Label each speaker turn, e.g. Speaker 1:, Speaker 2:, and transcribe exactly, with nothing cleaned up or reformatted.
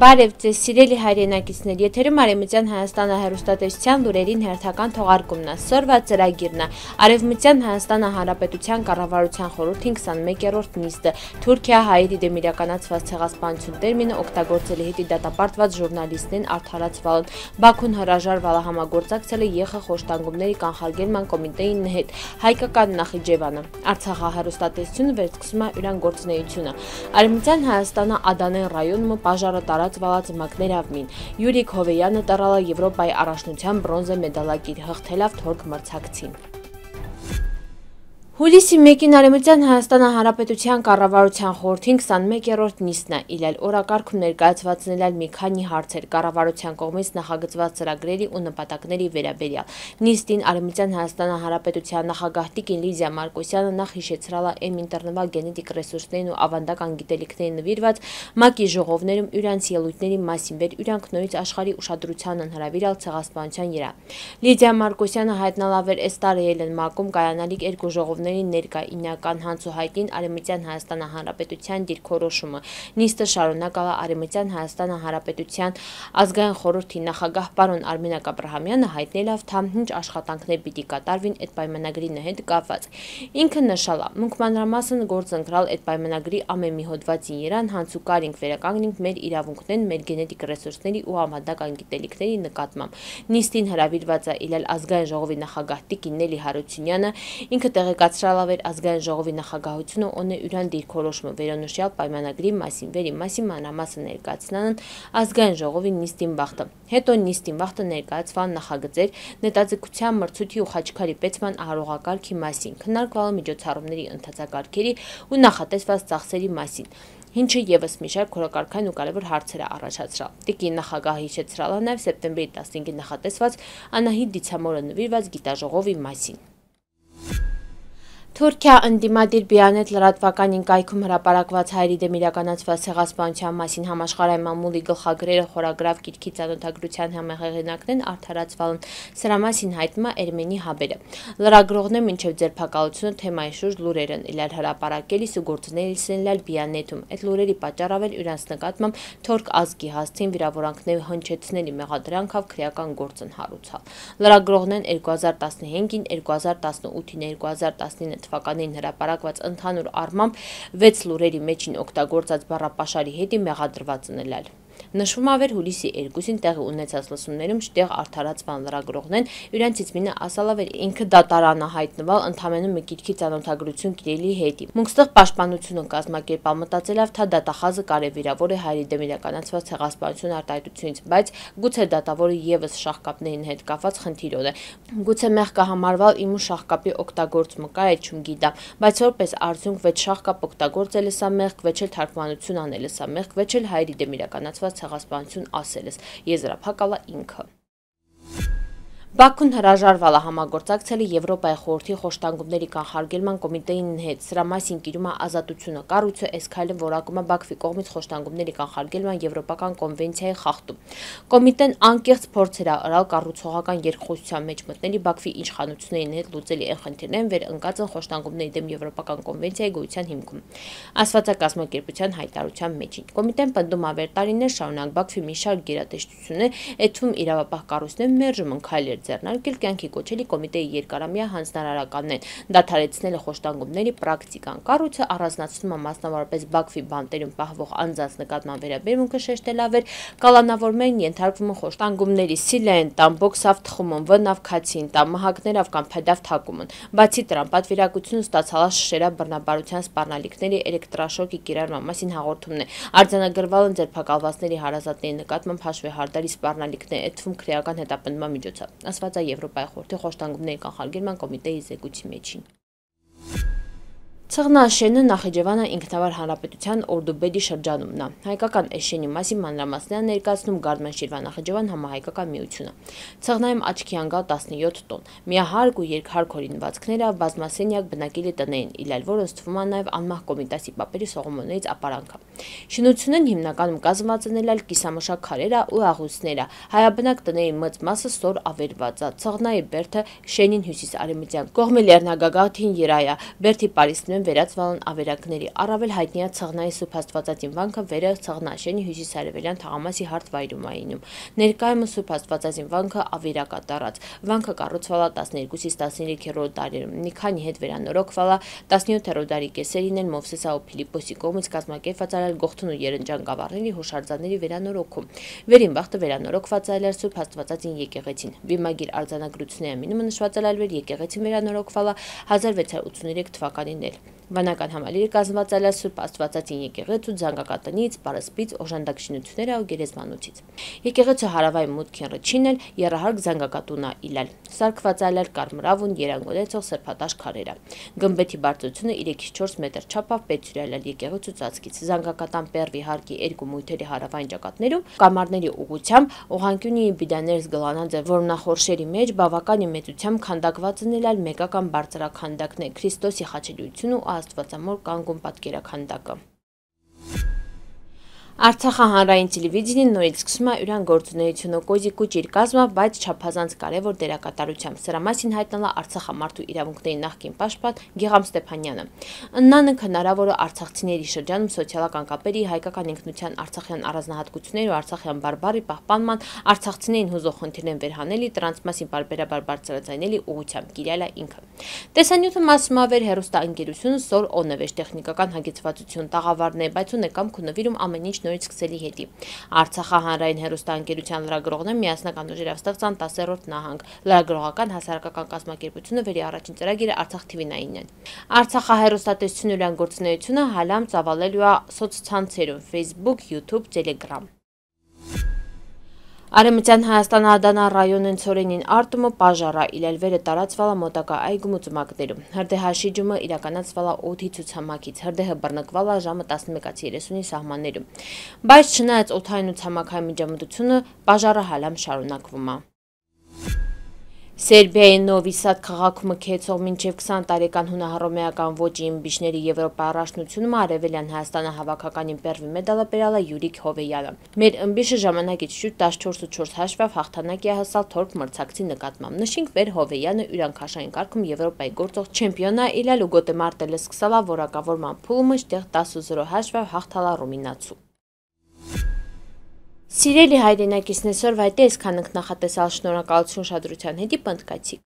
Speaker 1: Բարև ձեզ սիրելի հայրենակիցներ, եթերում Արևմտյան Հայաստանը հեռուստատեսության լուրերին հերթական թողարկումն է, սորվա ծրագիրն է, Արևմտյան Հայաստանը Հանրապետության կառավարության խորհրդի քսանմեկերորդ նիստը, Թուրքիա-Հայերի դեմ իրականացված ցեղասպանություն տերմինը օգտագործելի հետի դատապարտված ժուրնալիստին արդարացվալն, Բաքուն հրաժարվել է համագործակցել ԵԽ խոշտանգումների կանխարգելման կոմիտեին հետ, հայկական Նախիջևանը, Արցախի հեռուստատեսությունը վերսկսում է իրան գործունեությունը, Արևմտյան Հայաստանը Ադանեն ռայոնում պաժարը տարածվալած մակներավմին, Յուրիկ Հովեյանը տարալա Եվրոպայի առաջնության բրոնզե մեդալակիր հղթելով թորք մրցակցին։ Հուլիսի մեկին Արևմտյան Հայաստանը Հանրապետության կառավարության խորհրդի քսանմեկերորդ նիստն է, իլել օրակարգում ներկայացված մի քանի հարցեր կառավարության կողմից նախագծված ծրագրերի ու նպատակների վերաբերյալ։ Նիստին Արևմտյան Հայաստանը Հանրապետության նախագահ Տիկին Լիդիա Մարկոսյանը նախ հիշեցրել է ինտերնետ գենետիկ ռեսուրսներին ու ավանդական գիտելիքներին նվիրված ՄԱԿ-ի ժողովներում իրանց ելույթների մասին վեր իրանք նորից աշխարհի ուշադրությանն հրավիրել ցեղասպանության իրա։ Լիդիա Մարկոսյանը հայտնալավեր այս տարեել են ՄԱԿ-ում կայանալիք երկու ժողովներ ներկա ինական հանցուհայտին Արևմտյան Հայաստանը Հանրապետության դիրքորոշումը։ Նիստը շարունակալ է Արևմտյան Հայաստանը Հանրապետության ազգային խորհրդի նախագահ պարոն Արմինակ Աբրահամյանը հայտնելով թե ինչ աշխատանքներ պիտի կատարվին այդ պայմանագրի հետ կապված։ Ինքը նշել է, մենք մանրամասն գործընկրալ այդ պայմանագրի ամեն մի հոդվածին իրան հանցուկարինք վերականգնենք մեր իրավունքներն մեր գենետիկ ռեսուրսների ու ավանդական գիտելիքների նկատմամբ։ Նիստին հրավիրված է իլել ազգային ժողովի նախագահ Տիկին Նելի Հարությունյանը, ինքը տեղեկացրել է ազգային ժողովի նախագահությունը ունի իրան դիրքորոշումը վերոնշյալ պայմանագրի մասին վերի մասին մանրամասն ներկայացնան ազգային ժողովի նիստին վախտը։ Հետո նիստին վախտը ներկայացվան նախագծեր նետաձգության մրցույթի ու Խաչքարի պետման արարողակարգի մասին, քննարկվալ միջոցառումների ընթացակարգերի ու նախատեսված ծախսերի մասին, ինչը եւս մի շարք քորակարգային ու կարևոր հարցեր է առաջացրել։ Տիկին նախագահը հիշեցրել է նաեւ սեպտեմբերի տասնհինգին նախատեսված Անահիտ Դիցամորը նվիրված գիտաժողովի մասին։ Թուրքիա ընդդիմադիր Բիանետ լրատվականին կայքում հրապարակված հայերի դեմ իրականացված ցեղասպանության մասին համաշխարհային մամուլի գլխագրերը խորագրավ գիրքի ծանոթագրության համահեղինակներն արդարացվալն սրա մասին հայտնում է Էրմենի Հաբերը։ Լրագրողներն մինչև ձերբակալությունը թեմայի շուրջ լուրեր են իլել հրապարակելիս ու գործունեելիս են լալ Բիանետում։ Այդ լուրերի պատճառով էլ իրանց նկատմամբ թորք ազգի հասցին վիրավորանքների հնչեցնելի մեղադրանքով քրեական գործ են հարուցալ։ Լրագրողներն երկու հազար տասնհինգին, երկու հազար տասնութին, երկու հազար տասնինը թվականին հրապարակված ընդհանուր առմամբ վեց լուրերի մեջին օգտագործած բառապաշարի հետի մեղադրված են ելել։ Նշվում է վեր հուլիսի երկուսին տեղի ունեցած լսումներում շտեղ արդարացվան լրագրողներն իրանցից մինը ասալավեր ինքը դատարանը հայտնվել ընդամենը մի գիրքի ծանոթագրություն կիրելի հետի։ Մունքստեղ պաշտպանությունը կազմակերպալ մտածելով թե դատախազը կարևիրավոր է հայերի դեմ իրականացված ցեղասպանություն արտահայտությունից, բայց գուցե դատավորը եւս շահկապներին հետ կապված խնդիրով է։ Գուցե մեղք կհամարվալ իմու շահկապի օգտագործումը կա է չում գիտամ, բայց որպես արդյունք վեճ շահկապ օգտագործել է սա մեղք, վեճ էլ թարգմանություն անել է սա մեղք, վեճ էլ հայերի դեմ իրականացված ցեղասպանություն ասել ես, եզրափակալ է ինքը։ Բաքուն հրաժարվել է համագործակցել Եվրոպայի խորհրդի խոշտանգումների կանխարգելման կոմիտեին հետ, սրա մասին կիրում է Ազատությունը, կառույցը այս քայլը որակում է Բաքվի կողմից խոշտանգումների կանխարգելման եվրոպական կոնվենցիայի խախտում։ Կոմիտեն անկեղծ փորձեր է արել կառուցողական երկխոսության մեջ մտնելի Բաքվի իշխանություններին հետ լուծելի այն խնդիրներն վեր ընկած են խոշտանգումների դեմ եվրոպական կոնվենցիայի գոյության հիմքում։ Ասվածակազմակերպության հայտարարության մեջին կոմիտեն պնդում է վեր տարիներ շարունակ Բաքվի մի շարք գերատեսչություններ, այդ թվում իրավապահ կառույցներ մերժում են քայլեր ձեռնարկել կյանքի կոչելի կոմիտեի երկարամյա հանձնարարականներն, դադարեցնել է խոշտանգումների պրակտիկան։ Կառույցը առանձնացնում է մասնավորապես Բաքվի բանտերում պահվող անձանց նկատմամբ վերաբերմունքը շեշտելավեր, կալանավորներն ենթարկվում են խոշտանգումների սիլային տան, բոքսավ թխումն, վնավ քացին տան, մահակներով կամ փեդավ թակումն։ Բացի դրան, պատվիրակությունը ստացալ է շշերավ բռնաբարության սպառնալիքների էլեկտրաշոկի կիրառման մասին հաղորդումն է։ Արձանագրվել են ձերբակալվածների հարազատների նկատմամբ հաշվեհարդարի սպառնալիքներ, այդ թվում քրեական հետապնդման միջոցով, ասված է Եվրոպայի խորհրդի խոշտանգումների կանխարգելման կոմիտեի զեկույցի մեջին։ Ցղնաշենը Նախիջևանը ինքնավար հանրապետության Օրդուբեդի շրջանումն է։ Հայկական էշենի մասին մանրամասներ ներկայացնում Գարմեն Շիրվան-Նախիջևան համահայկական միությունը։ Ցղնայում աչքի անգալ տասնյոթ տոն, միահարկ ու երկհարկ հորինվածքները բազմասենյակ բնակելի տներին, իլել որոնց թվում է նաև անմահ Կոմիտասի պապերի սողոմոններից ապարանքը։ Շինությունն հիմնականում կազմված են ելել կիսամշակ քարերը ու աղյուսները, հայաբնակ տների մեծ մասը ստոր ավերված է։ Ցղնայի բերդը շենին հյուսիս արևմտյան կողմի լեռնագագաթին երայա, բերդի պարիսպներում են վերածվալն ավերակների, առավել հայտնիա Ցղնայի Սուրբ Աստվածածին վանքը վերը Ցղնաշենի հյուսիսարևելյան թաղամասի հարթ վայրում այնում։ Ներկայումս Սուրբ Աստվածածին վանքը ավերակ է տարած։ Վանքը կառուցվել է տասներկուսից տասներեքերորդ դարերում, մի քանի հետ վերանորոգվել է տասնյոթերորդ դարի կեսերին են Մովսեսա ու Փիլիպոսի կողմից կազմակերպված արել Գողթուն ու Երնջան գավառների հուշարձանների վերանորոգում։ Վերին բախտը վերանորոգված է այլեր Սուրբ Աստվածածին եկեղեցին։ Վիմագիր արձանագրությունների ամինումը նշված է այլեր եկեղեցին վերանորոգվել է հազար վեց հարյուր ութսուներեք թվականին էլ։ Վանական համալիրը կազմված է Սուրբ Աստվածածին եկեղեցու զանգակատնից, պարսպից, օժանդակշինությունները ու գերեզմանոցից։ Եկեղեցու հարավային մուտքին ռչին էլ եռահարկ զանգակատուն է իլալ։ Սարքված է կարմրավուն երանգոլեցող սրբատաշ քարերը։ Գմբեթի բարձրությունը երեքից չորս մետր չափով պետսյուրել է եկեղեցու ծածկից։ Զանգակատան պերվի հարկի երկու մույթերի հարավային ճակատներում կամարների ուղղությամբ ուղղանկյունի բիդաներս գլանաձև որմնախորշերի մեջ բավական մեծությամբ քանդակված են էլ մեկական բարձրաքանդակներ Քրիստոսի խաչելիություն ու Աստվածամոր կանգուն պատկերաքանդակը։ Արցախի հանրային տելևիզիան նորից սկսում է իր գործունեությունը կոզիկու ճիրկազմը, բայց չափազանց կարևոր դերակատարությամբ։ Սրա մասին հայտնել է Արցախի մարդու իրավունքների նախկին պաշտպան Գիգամ Ստեփանյանը։ Ըննանք հնարավոր է արցախցիների շրջանում սոցիալական կապերի, հայկական ինքնության արցախյան առանձնահատկությունների ու արցախյան բարբարի պահպանման, արցախցիներին հուզող խնդիրներն վերհանելի, դրանց մասին բարբերաբար բարձրաձայնելի ուղղությամբ կիրել է ինքը։ Տեսանյութը մասում ավեր հեռուստաընկերությունը Սոր Օնեվեշ տեխնիկական հագեցվածություն տաղավարն է, բայց ունեկամ քննվիրում ամեն ինչ նորից սկսելի հետի։ Արցախի հանրային հեռուստաընկերության լրագրողները միասնական ուժերով ստեղծան տասերորդ նահանգ։ Լրագրողական հասարակական կազմակերպությունը վերի առաջին ծրագիրը Արցախ Թ V նայնն է։ Արցախի հեռուստատեսությունը իրան գործունեությունը հալամ ծավալելու է սոցցանցերում Facebook, YouTube, Telegram։ Արեմտյան Հայաստան Ադանա ռայոնեն Ցորենին արտումը պաժարա իլելվերը տարածվալա մոտակա այգում ու ծմակներում։ Հրդեհա շիջումը իրականացվալա օդի ցուցամակից, հրդեհը բռնկվալա ժամը տասնմեկից երեսունի սահմաններում։ Բայց չնայած օդային ու ցամաքային միջամտությունը, պաժարը հալամ շարունակվում է։ Սերբիայի Նովի Սադ քաղաքում մքեցող մինչև քսան տարեկան հունահռոմեական ոճի իմբիշների Եվրոպա առաջնությունում արևելյան Հայաստանը հավաքականին պերվի մեդալը բերալ է Յուրիկ Հովեյանը։ Մեր ըմբիշը ժամանակից շուտ տասնչորս ու չորս հաշվով հաղթանակի է հասալ թորք մրցակցի նկատմամբ։ Նշենք վեր Հովեյանը յուրանքաշային կարգում Եվրոպայի գործող չեմպիոն է իլալ ու գոտեմարտելը սկսալ է որակավորման փուլումը շտեղ տասը ու զրո հաշվով հաղթալա ռումինացու։ Սիրելի հայրենակիցներ, այսօր վայտե այսքան ենք նախատեսալ, շնորհակալություն ուշադրության հետի պնդկացիք։